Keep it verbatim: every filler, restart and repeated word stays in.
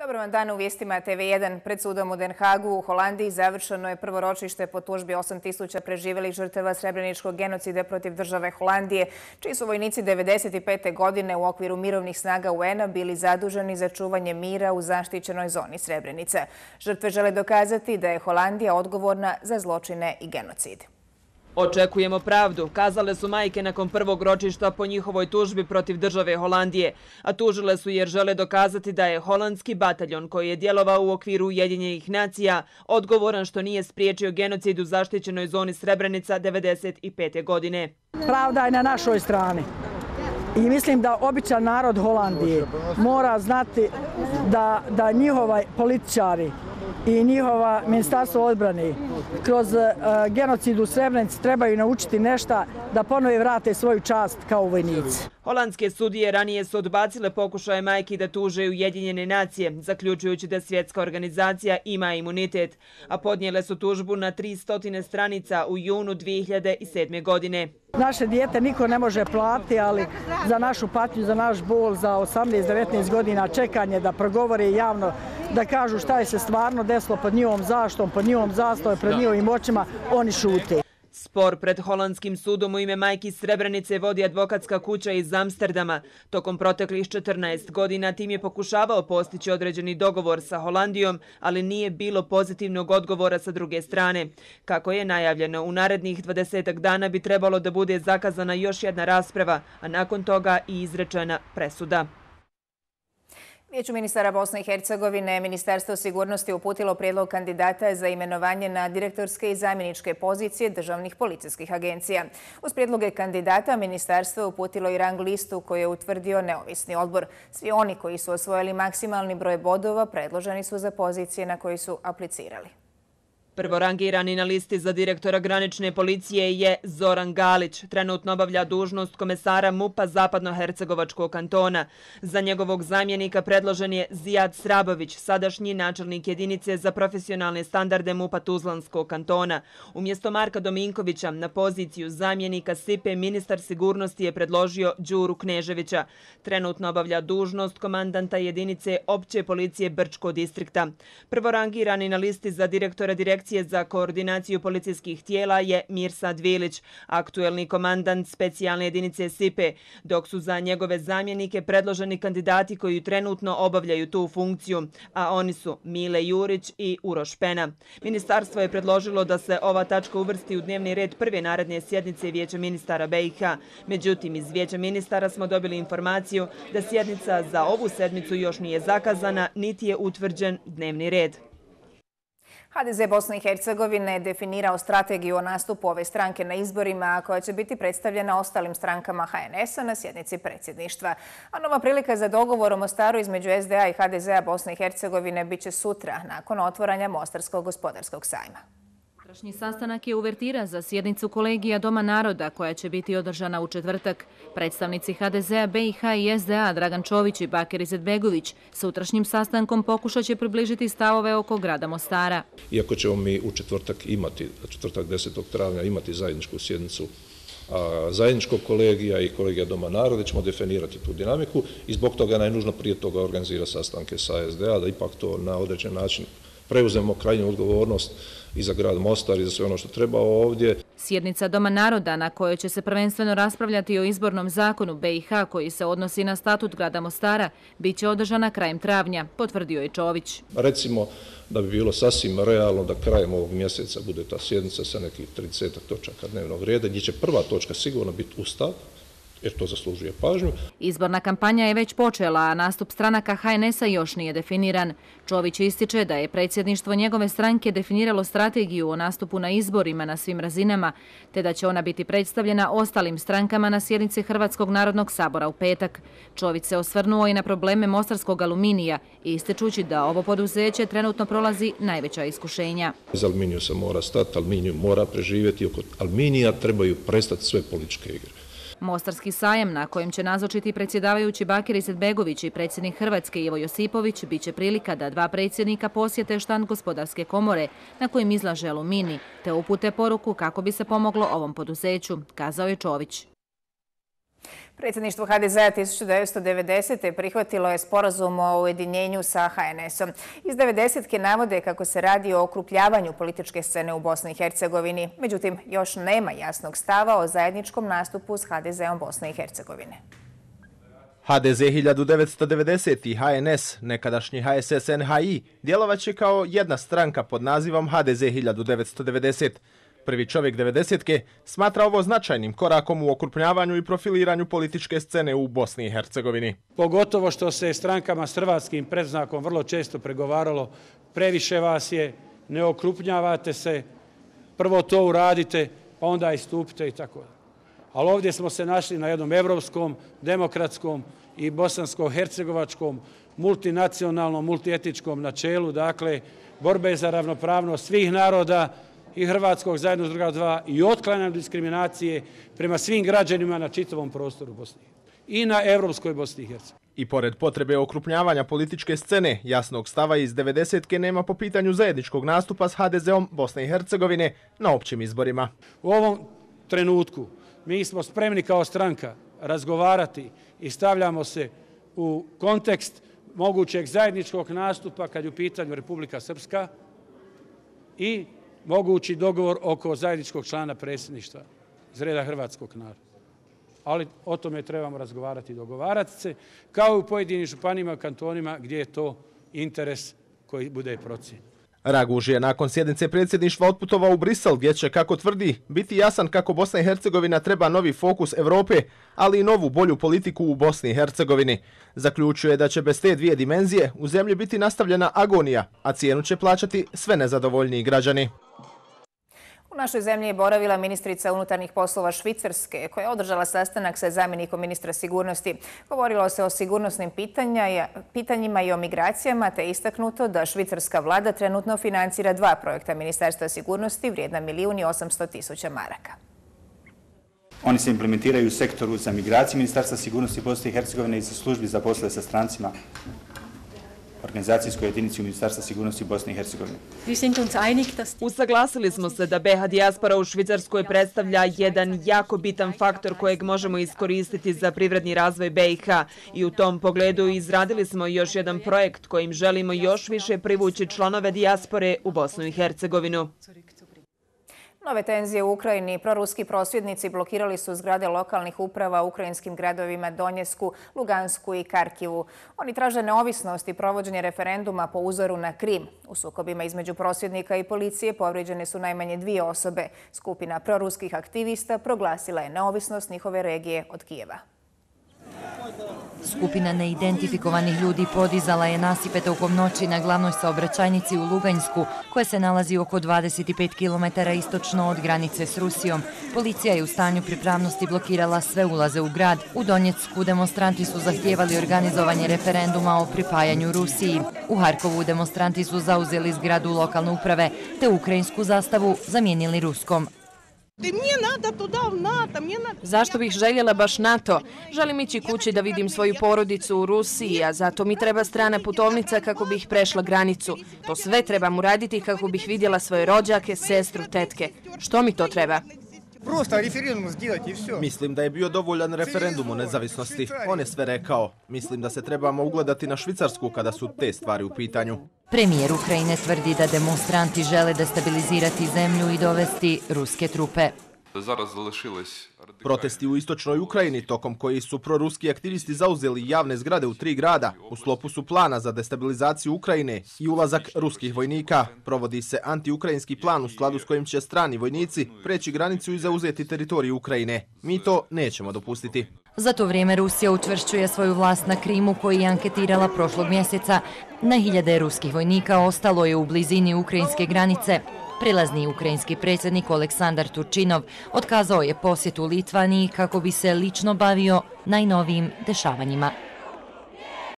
Dobar vam dan u vijestima T V jedan. Pred sudom u Den Hagu u Holandiji završeno je prvo ročište po tužbi osam tisuća preživelih žrtava srebreničkog genocida protiv države Holandije, čiji su vojnici devedeset pete. godine u okviru mirovnih snaga U N-a bili zaduženi za čuvanje mira u zaštićenoj zoni Srebrenica. Žrtve žele dokazati da je Holandija odgovorna za zločine i genocid. Očekujemo pravdu, kazale su majke nakon prvog ročišta po njihovoj tužbi protiv države Holandije, a tužile su jer žele dokazati da je holandski bataljon koji je djelovao u okviru Ujedinjenih nacija odgovoran što nije spriječio genocid u zaštićenoj zoni Srebrenica devedeset pete. godine. Pravda je na našoj strani. I mislim da običan narod Holandije mora znati da, da njihovi političari i njihova ministarstvo odbrane kroz uh, genocid u Srebrenici trebaju naučiti nešto da ponovo vrate svoju čast kao vojnici. Holandske sudije ranije su odbacile pokušaje majki da tuže Ujedinjene nacije, zaključujući da svjetska organizacija ima imunitet, a podnijele su tužbu na tristo stranica u junu dvije hiljade sedme. godine. Naše dijete niko ne može platiti, ali za našu patnju, za naš bol, za osamnaest devetnaest godina čekanje da progovore javno, da kažu šta je se stvarno desilo pod njihovom zaštom, pod njihovom zastavom, pred njihovim očima, oni šute. Spor pred holandskim sudom u ime majki Srebrenice vodi advokatska kuća iz Amsterdama. Tokom proteklih četrnaest godina tim je pokušavao postići određeni dogovor sa Holandijom, ali nije bilo pozitivnog odgovora sa druge strane. Kako je najavljeno, u narednih dvadesetak dana bi trebalo da bude zakazana još jedna rasprava, a nakon toga i izrečena presuda. Vijeću ministara Bosne i Hercegovine Ministarstvo sigurnosti uputilo prijedlog kandidata za imenovanje na direktorske i zamjeničke pozicije državnih policijskih agencija. Uz prijedloge kandidata ministarstvo je uputilo i rang listu koju je utvrdio neovisni odbor. Svi oni koji su osvojili maksimalni broj bodova predloženi su za pozicije na koji su aplicirali. Prvorangirani na listi za direktora granične policije je Zoran Galić. Trenutno obavlja dužnost komesara M U P-a Zapadno-Hercegovačkog kantona. Za njegovog zamjenika predložen je Zijad Srabović, sadašnji načelnik jedinice za profesionalne standarde M U P-a Tuzlanskog kantona. Umjesto Marka Dominkovića na poziciju zamjenika S I P-e ministar sigurnosti je predložio Đuru Kneževića. Trenutno obavlja dužnost komandanta jedinice opće policije Brčkog distrikta. Prvorangirani na listi za direktora direkcije za koordinaciju policijskih tijela je Mirsad Vilić, aktuelni komandant specijalne jedinice S I P-e, dok su za njegove zamjenike predloženi kandidati koji trenutno obavljaju tu funkciju, a oni su Mile Jurić i Uroš Pena. Ministarstvo je predložilo da se ova tačka uvrsti u dnevni red prve naredne sjednice Vijeća ministara B i H. Međutim, iz Vijeća ministara smo dobili informaciju da sjednica za ovu sedmicu još nije zakazana, niti je utvrđen dnevni red. H D Z Bosne i Hercegovine je definirao strategiju o nastupu ove stranke na izborima koja će biti predstavljena ostalim strankama H N S-a na sjednici predsjedništva. A nova prilika za dogovor o Mostaru između S D A i H D Z-a Bosne i Hercegovine bit će sutra nakon otvaranja Mostarskog gospodarskog sajma. Sutrašnji sastanak je uvertira za sjednicu kolegija Doma naroda koja će biti održana u četvrtak. Predstavnici H D Z-a, B i H i S D A Dragan Čović i Bakir Izetbegović sutrašnjim sastankom pokušat će približiti stavove oko grada Mostara. Iako ćemo mi u četvrtak imati, četvrtak desetog travnja imati zajedničku sjednicu zajedničkog kolegija i kolegija Doma naroda, ćemo definirati tu dinamiku i zbog toga najnužno prije toga organizira sastanke sa S D A da ipak to na određen način preuzemo krajnju odgovornost i za grad Mostar i za sve ono što treba ovdje. Sjednica Doma naroda na kojoj će se prvenstveno raspravljati o izbornom zakonu B i H koji se odnosi na statut grada Mostara bit će održana krajem travnja, potvrdio je Čović. Recimo da bi bilo sasvim realno da krajem ovog mjeseca bude ta sjednica sa nekih trideset točaka dnevnog reda, gdje će prva točka sigurno biti Ustav, jer to zaslužuje pažnju. Izborna kampanja je već počela, a nastup stranaka H N S-a još nije definiran. Čović ističe da je predsjedništvo njegove stranke definiralo strategiju o nastupu na izborima na svim razinama, te da će ona biti predstavljena ostalim strankama na sjednici Hrvatskog narodnog sabora u petak. Čović se osvrnuo i na probleme mostarskog aluminija, ističući da ovo poduzeće trenutno prolazi najveća iskušenja. Iz aluminiju se mora stati, aluminiju mora preživjeti, oko aluminija trebaju prestati sve političke igre. Mostarski sajam na kojem će nazočiti predsjedavajući Bakir Izetbegović i predsjednik Hrvatske Ivo Josipović bit će prilika da dva predsjednika posjete štand gospodarske komore na kojim izlaže alumini te upute poruku kako bi se pomoglo ovom poduzeću, kazao je Čović. Predsjedništvo ha de zea hiljadu devetsto devedesete. prihvatilo je sporazum o ujedinjenju sa ha en esom. Iz devedesetke navode kako se radi o okrupljavanju političke scene u Bosni i Hercegovini. Međutim, još nema jasnog stava o zajedničkom nastupu s ha de zeom Bosne i Hercegovine. ha de ze hiljadu devetsto devedeset i ha en es, nekadašnji ha es es en ha i, djelovaće kao jedna stranka pod nazivom ha de ze hiljadu devetsto devedeset. Prvi čovjek devedesetke smatra ovo značajnim korakom u okrupnjavanju i profiliranju političke scene u Bosni i Hercegovini. Pogotovo što se strankama s hrvatskim predznakom vrlo često pregovaralo, previše vas je, ne okrupnjavate se, prvo to uradite, pa onda istupite i tako. Ali ovdje smo se našli na jednom evropskom, demokratskom i bosansko-hercegovačkom, multinacionalnom, multietičkom načelu, dakle, borbe za ravnopravnost svih naroda i hrvatskog zajedno s druga dva i otklanjanje diskriminacije prema svim građanima na čitavom prostoru Bosne i na evropskoj Bosni i Hercegovini. I pored potrebe okrupnjavanja političke scene, jasnog stava iz devedesetke nema po pitanju zajedničkog nastupa s ha de zeom Bosne i Hercegovine na općim izborima. U ovom trenutku mi smo spremni kao stranka razgovarati i stavljamo se u kontekst mogućeg zajedničkog nastupa kad je u pitanju Republika Srpska i mogući dogovor oko zajedničkog člana predsjedništva iz reda hrvatskog naroda. Ali o tome trebamo razgovarati i dogovarati se, kao i u pojedinim županijama i kantonima gdje je to interes koji bude procijenjen. Raguž je nakon sjednice predsjedništva otputovao u Brisel, gdje će, kako tvrdi, biti jasan kako Bosna i Hercegovina treba novi fokus Evrope, ali i novu bolju politiku u Bosni i Hercegovini. Zaključuje da će bez te dvije dimenzije u zemlji biti nastavljena agonija, a cijenu će plaćati sve nezadovoljniji građani. U našoj zemlji je boravila ministrica unutarnjih poslova Švicarske, koja je održala sastanak sa zamjenikom ministra sigurnosti. Govorilo se o sigurnosnim pitanjima i o migracijama, te istaknuto da švicarska vlada trenutno financira dva projekta Ministarstva sigurnosti vrijedna milijun i osamsto tisuća maraka. Oni se implementiraju u sektoru za migraciju Ministarstva sigurnosti Bosne i Hercegovine i za službi za poslove sa strancima, organizacijskoj jedinici Ministarstva sigurnosti Bosne i Hercegovine. Usaglasili smo se da be ha dijaspora u Švicarskoj predstavlja jedan jako bitan faktor kojeg možemo iskoristiti za privredni razvoj be i ha i u tom pogledu izradili smo još jedan projekt kojim želimo još više privući članove dijaspore u Bosnu i Hercegovinu. Nove tenzije u Ukrajini. Proruski prosvjednici blokirali su zgrade lokalnih uprava u ukrajinskim gradovima Donjesku, Lugansku i Karkivu. Oni traže neovisnost i provođenje referenduma po uzoru na Krim. U sukobima između prosvjednika i policije povrijeđene su najmanje dvije osobe. Skupina proruskih aktivista proglasila je neovisnost njihove regije od Kijeva. Skupina neidentifikovanih ljudi podizala je nasipe tokom noći na glavnoj saobraćajnici u Luganjsku, koja se nalazi oko dvadeset pet kilometara istočno od granice s Rusijom. Policija je u stanju pripravnosti blokirala sve ulaze u grad. U Donjecku demonstranti su zahtijevali organizovanje referenduma o pripajanju Rusiji. U Harkovu demonstranti su zauzeli zgradu lokalne uprave, te ukrajinsku zastavu zamijenili ruskom. Zašto bih željela baš NATO? Želim ići kući da vidim svoju porodicu u Rusiji, a zato mi treba strana putovnica kako bih prešla granicu. To sve trebam uraditi kako bih vidjela svoje rođake, sestru, tetke. Što mi to treba? Mislim da je bio dovoljan referendum o nezavisnosti. On je sve rekao. Mislim da se trebamo ugledati na Švicarsku kada su te stvari u pitanju. Premijer Ukrajine tvrdi da demonstranti žele destabilizirati zemlju i dovesti ruske trupe. Protesti u istočnoj Ukrajini, tokom koji su proruski aktivisti zauzeli javne zgrade u tri grada, u sklopu su plana za destabilizaciju Ukrajine i ulazak ruskih vojnika. Provodi se antiukrajinski plan u skladu s kojim će strani vojnici preći granicu i zauzeti teritoriju Ukrajine. Mi to nećemo dopustiti. Za to vrijeme Rusija učvršćuje svoju vlast na Krimu, koji je anketirala prošlog mjeseca. Na hiljade ruskih vojnika ostalo je u blizini ukrajinske granice. Prilazni ukrajinski predsjednik Oleksandar Turčinov otkazao je posjetu Litvaniji kako bi se lično bavio najnovijim dešavanjima.